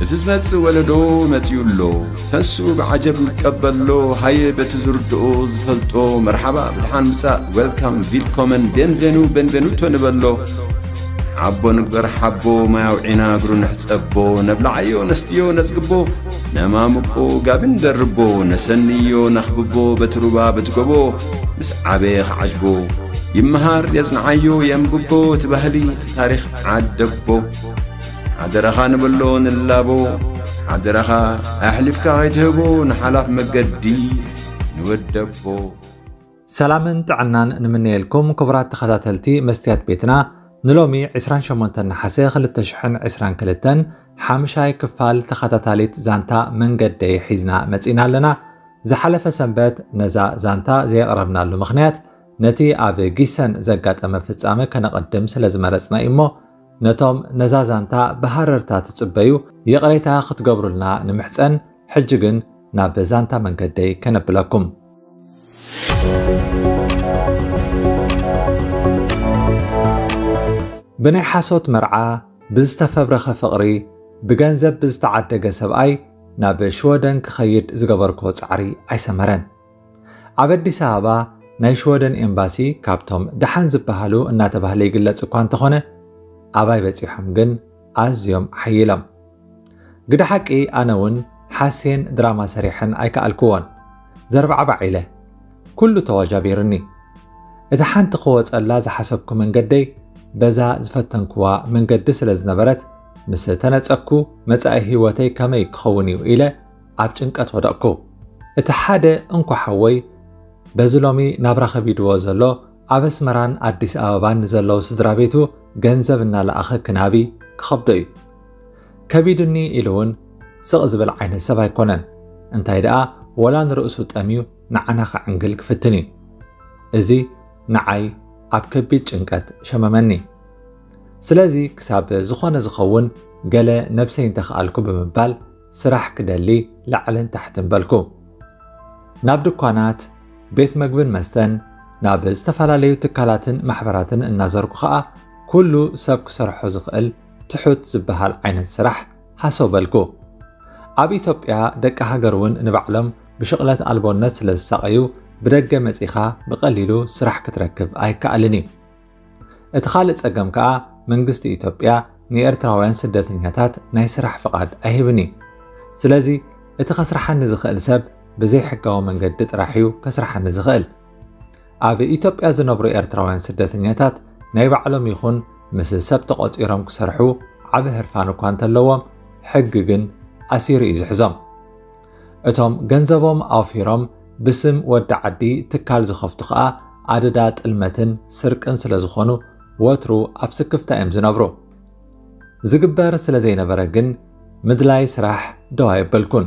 እቲ ዝመጽእ ወለዶ መጺኡ ኣሎ። ተንስኡ ብዓጀብ ንቀበሎ። ሃየ በቲ ዝርድኦ ዝፈልጦ መርሓባ ብድሓን ምጻእ፣ ዌልካም፣ ቪልኮመን፣ ቤንቬኑ፣ ቤንቬኑቶ ንበሎ። ሓቦ ንግበር ሓቦ፣ ማይ ኣውዒና እግሩ ንሕጸቦ። ነብልዓዮ ነስትዮ ነጽግቦ፣ ነማምቆ ጋቢ ንደርቦ። ነሰንዮ ነኽብቦ በቲ ሩባ በቲ ጎቦ። ምስ ዓበየ ክዓጅቦ ይመሃር የጽንዓዮ የንብቦ። እቲ ባህሊ እቲ ታሪኽ ዓደቦ። ሓደራኻ ንበሎ ንላቦ። ሓደራኻ ኣሕሊፍካ ከይትህቦ ንሓላፍ መገዲ ንወደቦ። ሰላምን ጥዕናን ንምነየልኩም ክቡራት ተኸታተልቲ መስትያት ቤትና። ንሎሚ ዕስራን ሸሞንተን ነሓሰ ክልተ ሽሕን ዕስራን ክልተን ሓምሻይ ክፋል ተኸታታሊት ዛንታ መንገደይ ሒዝና መጺና ኣለና። ዝሓለፈ ሰንበት ነዛ ዛንታ ዘየቕረብናሉ ምኽንያት ነቲ ኣብ ጊሰን ዘጋጠመ ፍጻመ ከነቐድም ስለ ዝመረጽና እዩ እሞ፣ ነቶም ነዛ ዛንታ ብሃረርታ ትጽበዩ ይቕሬታ ክትገብሩልና ንምሕጸን። ሕጂ ግን ናብ ዛንታ መንገደይ ከነብለኩም። ብናይ ሓሶት መርዓ፣ ብዝተፈብረኸ ፍቕሪ፣ ብገንዘብ ብዝተዓደገ ሰብኣይ ናብ ሽወደን ክኸይድ ዝገበርክዎ ጻዕሪ ኣይሰመረን። ኣብ ኣዲስ ኣበባ ናይ ሽወደን ኤምባሲ ካብቶም ደሓን ዝበሃሉ እናተባህለ ይግለጽ እኳ እንተኾነ፣ ኣባይ በጺሖም ግን ኣዝዮም ሓይሎም። ግደ ሓቂ ኣነ እውን ሓሴን ድራማ ሰሪሐን ኣይከኣልክዎን። ዘርባዕባዕ ኢለ። ኩሉ ተዋጃቢሩኒ። እቲ ሓንቲ ክወጸላ ዝሓሰብኩ መንገደይ በዛ ዝፈተንክዋ መንገዲ ስለ ዝነበረት፣ ምስ ተነጸግኩ መጻኢ ህይወተይ ከመይ ክኸውን እዩ ኢለ ኣብ ጭንቀት ወደቕኩ። እቲ ሓደ እንኮ ሓወይ በዚ ሎሚ ናብራ ከቢድዎ ዘሎ ኣብ ኣስመራን ኣዲስ ኣበባን ንዘለዉ ስድራ ቤቱ ገንዘብ እናለኣኸ ክናቢ ክኸብዶ እዩ። ከቢዱኒ ኢሉ እውን ስቕ ዝብል ዓይነት ሰብ ኣይኮነን። እንታይ ደኣ ወላ ንርእሱ ጠምዩ ንዓና ከዕንግል ክፍትን እዩ። እዚ ንዓይ ኣብ ከቢድ ጭንቀት ሸመመኒ። ስለዚ ክሳብ ዝኾነ ዝኸውን ገለ ነብሰይ እንተኽኣልኩ ብምባል ስራሕ ክደሊ ላዕልን ታሕትን በልኩ። ናብ ድኳናት፣ ቤት መግብን መስተን፣ ናብ ዝተፈላለዩ ትካላትን ማሕበራትን እናዘርኩ ኸኣ ኩሉ ሰብ ክሰርሖ ዝኽእል ትሑት ዝበሃል ዓይነት ስራሕ ሃሰው በልኩ። ኣብ ኢትዮጵያ ደቂ ሃገር እውን ንባዕሎም ብሽቕለት ኣልቦነት ስለ ዝሳቐዩ ብደገ መጺኻ ብቐሊሉ ስራሕ ክትረክብ ኣይከኣልን እዩ። እቲ ካልእ ጸገም ከኣ መንግስቲ ኢትዮጵያ ንኤርትራውያን ስደተኛታት ናይ ስራሕ ፍቓድ ኣይህብን እዩ። ስለዚ እቲ ከስርሓኒ ዝኽእል ሰብ ብዘይሕጋዊ መንገዲ ጥራሕ እዩ ከስርሓኒ ዝኽእል። ኣብ ኢትዮጵያ ዝነብሩ ኤርትራውያን ስደተኛታት ናይ ባዕሎም ይኹን ምስ ሰብ ተቖጺሮም ክሰርሑ ዓቢ ህርፋን እኳ እንተለዎም፣ ሕጊ ግን ኣሲሩ እዩ ዝሕዞም። እቶም ገንዘቦም ኣውፊሮም ብስም ወዲ ዓዲ ትካል ዝኸፍቱ ኸኣ ኣደዳ ጥልመትን ስርቅን ስለ ዝኾኑ ወትሩ ኣብ ስክፍታ እዮም ዝነብሩ። ዝግበር ስለ ዘይነበረ ግን ምድላይ ስራሕ ደው ኣየበልኩን።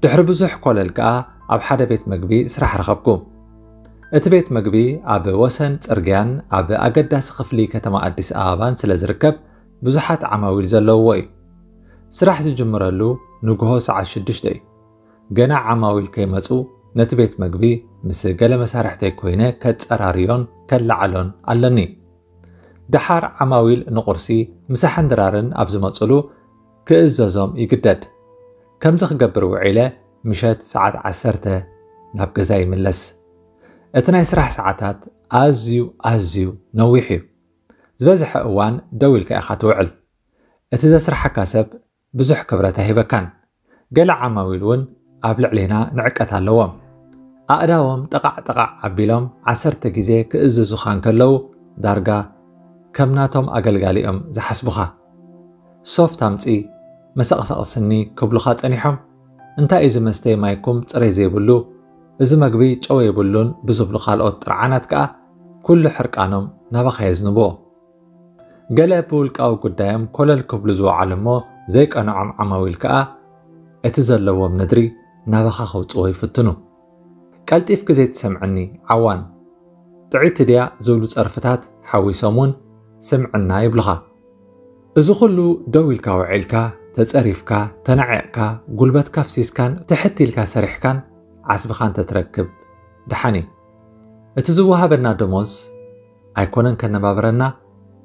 ድሕሪ ብዙሕ ኮለል ከኣ ኣብ ሓደ ቤት መግቢ ስራሕ ረኸብኩ። እቲ ቤት መግቢ ኣብ ወሰን ጽርግያን ኣብ ኣገዳሲ ክፍሊ ከተማ ኣዲስ ኣበባን ስለ ዝርከብ ብዙሓት ዓማዊል ዘለውዎ እዩ። ስራሕ ዝጅምረሉ ንግሆ ሰዓት ሽዱሽተ እዩ። ገና ዓማዊል ከይመጹ ነቲ ቤት መግቢ ምስ ገለ መሳርሕተይ ኮይነ ከጸራርዮን ከለዓሎን ኣለኒ። ደሓር ዓማዊል ንቁርሲ ምሳሕን ድራርን ኣብ ዝመጹሉ ክእዘዞም ይግደድ። ከምዚ ክገብር ውዒለ ምሸት ሰዓት ዓሰርተ ናብ ገዛ ይምለስ። እቲ ናይ ስራሕ ሰዓታት ኣዝዩ ኣዝዩ ነዊሕ እዩ። ዝበዝሐ እዋን ደው ኢልካ ኢኻ ትውዕል። እቲ ዘስርሓካ ሰብ ብዙሕ ክብረት ኣይህበካን። ገለ ዓማዊል እውን ኣብ ልዕሌና ንዕቀት ኣለዎም። ኣእዳዎም ጠቓዕ ጠቓዕ ኣቢሎም ዓሰርተ ግዜ ክእዝዙኻ እንከለዉ ዳርጋ ከም ናቶም ኣገልጋሊ እዮም ዝሓስቡኻ። ሶፍት ኣምጺ፣ መሰቕሰቒ ስኒ ክብሉኻ ጸኒሖም። እንታይ እዩ ዝመስተይ ማይኩም ጽሬት ዘይብሉ፣ እዚ መግቢ ጨው የብሉን ብዝብሉ ካልኦት ጥርዓናት ከኣ ኩሉ ሕርቃኖም ናባኻ የዝንብዎ። ገለ ብውልቃዊ ጉዳዮም ኮለል ክብሉ ዝወዓሉ እሞ ዘይቀንዖም ዓማዊል ከኣ እቲ ዘለዎም ነድሪ ናባኻ ከውጽዎ ይፍትኑ። ቀልጢፍኪ ዘይትሰምዕኒ ዓዋን፣ ጥዕይቲ ድያ ዝብሉ ጸርፍታት ሓዊሶም እውን ስምዕና ይብሉኻ። እዚ ኩሉ ደው ኢልካ ውዒልካ፣ ተጸሪፍካ፣ ተናዒቕካ፣ ጉልበትካ ኣፍሲስካን ትሕት ኢልካ ሰሪሕካን ዓስብኻ እንተትረክብ ደሓን እዩ። እቲ ዝወሃበና ደሞዝ ኣይኮነን ከነባብረና፣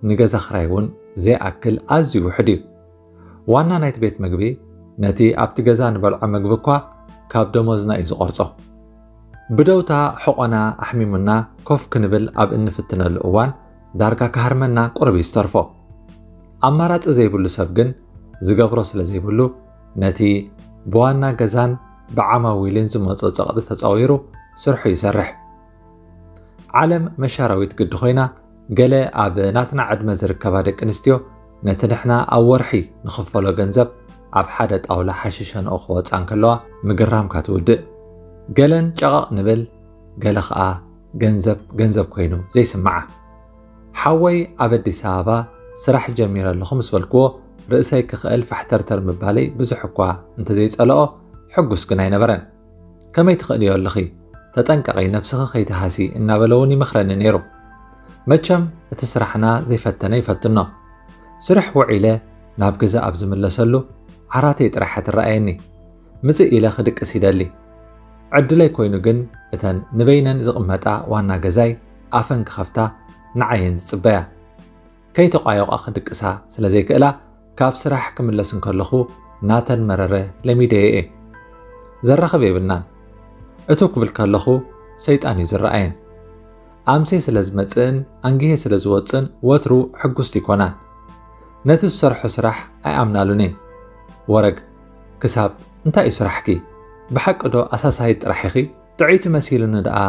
ንገዛ ክራይ እውን ዘይኣክል ኣዝዩ ውሑድ እዩ። ዋና ናይቲ ቤት መግቢ ነቲ ኣብቲ ገዛ ንበልዖ መግቢ እኳ ካብ ደሞዝና እዩ ዝቖርጾ። ብደውታ ሕቖና ኣሕሚሙና ኮፍ ክንብል ኣብ እንፍትነሉ እዋን ዳርጋ ክሃርመና ቁሩብ እዩ ዝተርፎ። ኣማራጺ ዘይብሉ ሰብ ግን ዝገብሮ ስለ ዘይብሉ ነቲ ብዋና ገዛን ብዓማዊልን ዝመጾ ጸቕጢ ተጻዊሩ ስርሑ ይሰርሕ። ዓለም መሻራዊት ግዲ ኮይና፣ ገለ ኣብ ናትና ዕድመ ዝርከባ ደቂ ኣንስትዮ ነቲ ንሕና ኣብ ወርሒ ንኽፈሎ ገንዘብ ኣብ ሓደ ጣውላ ሓሺሸንኦ ክወጻ እንከለዋ ምግራምካ ትውድእ። ገለን ጨቐቕ ንብል፣ ገለ ኸኣ ገንዘብ ገንዘብ ኮይኑ ዘይስምዓ። ሓወይ ኣብ ኣዲስ ኣበባ ስራሕ ጀሚረ ኣለኹ ምስ በልክዎ፣ ርእሰይ ክኽእል ፋሕተርተር ምባለይ ብዙሕ እኳ እንተዘይጸልኦ፣ ሕጉስ ግን ኣይነበረን። "ከመይ ትኽእልዮ ኣለኺ? ተጠንቀቒ፣ ነብስኺ ከይትሃሲ" እናበለ እውን ይመኽረኒ ነይሩ። መቸም እቲ ስራሕና ዘይፈተነ ይፈትኖ። ስርሕ ውዒለ ናብ ገዛ ኣብ ዝምለሰሉ ዓራተይ ጥራሕ ትረኣየኒ። ምጽእ ኢለ ክድቅስ ይደሊ። ዕድለይ ኮይኑ ግን እተን ንበይነን ዝቕመጣ ዋና ገዛይ ኣፈን ክኸፍታ ንዓየን ዝጽበያ። ከይተቋየቋ ክድቅሳ ስለ ዘይክእላ ካብ ስራሕ ክምለስ እንከለኹ ናተን መረረ ለሚደዮ እየ። ዘራኽብ የብልናን። እቱ ክብል ከለኹ ሰይጣን እዩ ዝረኣየን። ኣምሴ ስለ ዝመጽእን ኣንጊሄ ስለ ዝወጽእን ወትሩ ሕጉስቲ ይኮናን። ነቲ ዝሰርሖ ስራሕ ኣይኣምናሉን እየ። "ወረግ፣ ክሳብ እንታይ እዩ ስራሕኪ? ብሓቂ ዶ ኣሳሳይት ጥራሕ ኢኺ? ጥዕይቲ መሲሉኒ ደኣ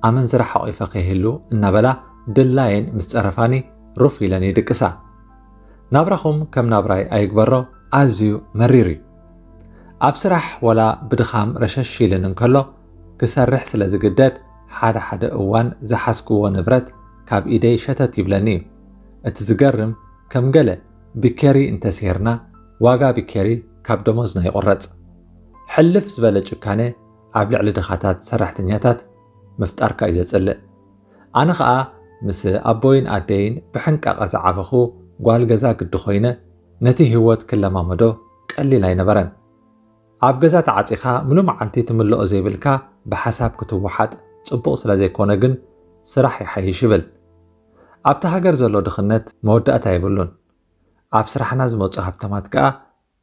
ኣመንዝራ ሓቒፈ ከይህሉ" እናበላ ድላየን ምስ ጸረፋኒ ሩፍ ኢለን ይድቅሳ። ናብራኹም ከም ናብራይ ኣይግበሮ፣ ኣዝዩ መሪር እዩ። ኣብ ስራሕ ወላ ብድኻም ረሸሽ ኢልን እንከሎ፣ ክሰርሕ ስለ ዝግደድ፣ ሓደ ሓደ እዋን ዝሓዝክዎ ንብረት ካብ ኢደይ ሸተት ይብለኒ እዩ። እቲ ዝገርም፣ ከም ገለ ቢኬሪ እንተሴርና፣ ዋጋ ቢኬሪ ካብ ደሞዝና ይቑረጽ። ሕልፍ ዝበለ ጭካነ ኣብ ልዕሊ ድኻታት ሰራሕተኛታት ምፍጣርካ እዩ ዘጽልእ። ኣነ ኸኣ ምስ ኣቦይን ኣደይን ብሕንቃቐ ዝዓበኹ ጓል ገዛ ግዲ ኮይነ፣ ነቲ ህይወት ክለማመዶ ቀሊል ኣይነበረን። ኣብ ገዛ ተዓጺኻ ምሉእ መዓልቲ ትምልኦ ዘይብልካ ብሓሳብ ክትወሓጥ ጽቡቕ ስለ ዘይኮነ ግን ስራሕ ይሓይሽ ይብል። ኣብቲ ሃገር ዘሎ ድኽነት መወዳእታ የብሉን። ኣብ ስራሕና ዝመጹ ሃብታማት ከኣ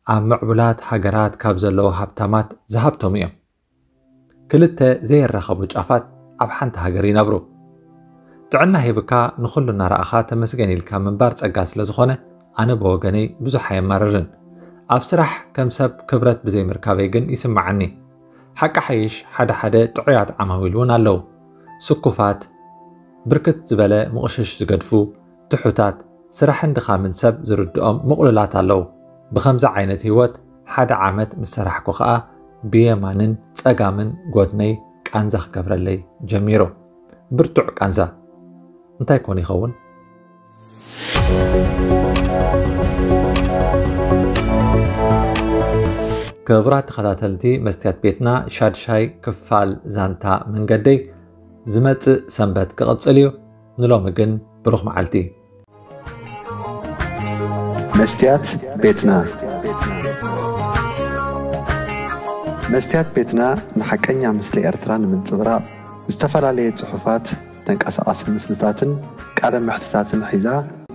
ኣብ ምዕቡላት ሃገራት ካብ ዘለዉ ሃብታማት ዝሃብተሙ እዮም። ክልተ ዘየራኸቡ ጫፋት ኣብ ሓንቲ ሃገር ይነብሩ። ጥዕና ሂብካ ንኹሉ እናረኣኻ ተመስገን ኢልካ ምንባር ጸጋ ስለ ዝኾነ ኣነ ብወገነይ ብዙሕ ኣየማርርን። ኣብ ስራሕ ከም ሰብ ክብረት ብዘይምርካበይ ግን ይስምዓኒ። ሓቂ ሓይሽ ሓደ ሓደ ጥዑያት ዓማዊል እውን ኣለዉ። ስኩፋት፣ ብርክት ዝበለ ምቕሽሽ ዝገድፉ፣ ትሑታት፣ ስራሕን ድኻምን ሰብ ዝርድኦም ምቕሉላት ኣለዉ። ብኸምዚ ዓይነት ህይወት ሓደ ዓመት ምስ ሰራሕኩ ኸኣ ብየማንን ጸጋምን ጎድነይ ቃንዛ ክገብረለይ ጀሚሩ። ብርቱዕ ቃንዛ። እንታይ ኮን ይኸውን? ክቡራት ተኸታተልቲ መስትያት ቤትና፣ ሻድሻይ ክፋል ዛንታ መንገደይ ዝመጽእ ሰንበት ክቕጽል እዩ። ንሎሚ ግን ብሩኽ መዓልቲ። መስትያት ቤትና። መስትያት ቤትና ንሓቀኛ ምስሊ ኤርትራ ንምንጽብራቕ ዝተፈላለየ ጽሑፋት፣ ተንቀሳቓሲ ምስልታትን ቃለ መሕትታትን ሒዛ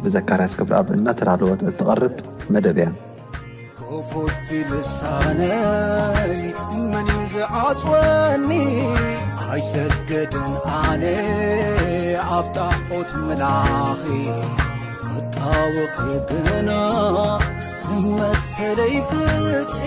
ብዘካርያስ ክብረኣብ እናተዳለወት እትቐርብ መደብ እያ። ክፉት ልሳነይ መን እዩ ዝዓጽወኒ? ኣይሰገድን ኣነ ኣብ ጣዖት ምላኺ ክጣወኺ ግና መሰለይ ፍትሒ